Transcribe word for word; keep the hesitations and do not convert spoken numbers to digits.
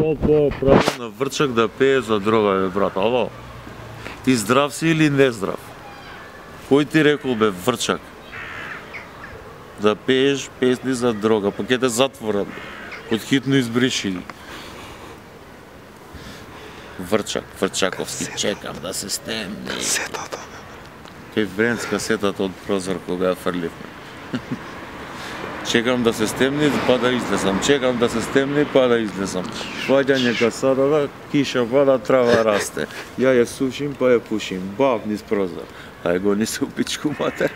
Толку право на Врчак да пее за дрога, бе, брат, ало? Ти здрав си или не здрав? Кој ти рекол, бе, Врчак? Да пееш песни за дрога, па ќе те затворат, под хитно избриши. Врчак, Врчаковски, чекам да се стемни. Касетата. Кај Бренц касетата од прозор кога ја фрливме. Чекам да се стемни, па да излезам. Чекам да се стемни, па да излезам. Ваѓање касадова, киша пада, трава расте. Ја ја сушим, па ја пушим. Баб низ прозор. Ај го ни се у пичку матер.